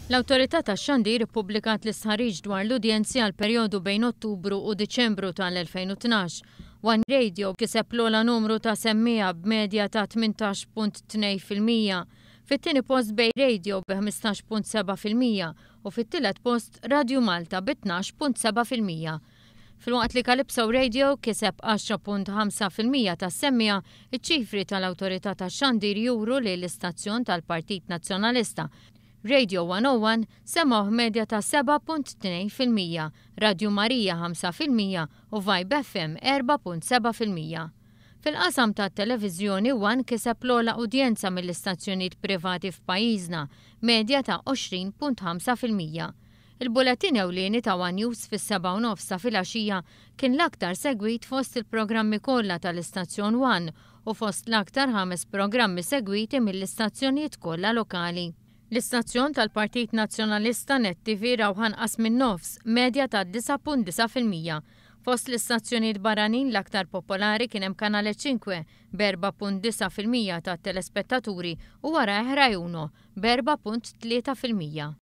L-Awtorità tax-Xandir ippubblikat l-istħarriġ dwar l-udjenzi għall-perjodu bejn Ottubru u Diċembru tal-2012. One Radio kiseb l-ogħla numru ta' semmiegħa b'medja ta' 18.2%. Fit-tieni post Bay Radio bi 15.7% u fit-tielet post Radju Malta bi 12.7%. Filwaqt li Calypso Radio kiseb 10.5% tas-semmiegħa, iċ-ċifri tal-Awtorità tax-Xandir juru li l-istazzjon tal-Partit Nazzjonalista Radio 101 semgħuh medja ta' 7.2%, Radju Marija 5% u Vibe FM 4.7%. Fil-qasam tat-televiżjoni One kiseb l-ogħla udjenza mill-istazzjonijiet privati f'pajjiżna, medja ta' 20.5%. Il-bulettin ewlieni ta' One News fis-sebgħa u nofs ta' filgħaxija kien l-aktar segwit fost il-programmi kollha tal-istazzjon One u fost l-aktar ħames programmi segwiti mill-istazzjonijiet kollha lokali. L-istazzjon tal-Partit Nazzjonalista Net TV rawh anqas min-nofs, medja ta' 9.9%. Fost l-istazzjonijiet barranin l-aktar popolari kien hemm Canale Cinque b'4.9% tat-telespettaturi u warajh Rai Uno b'4.3%.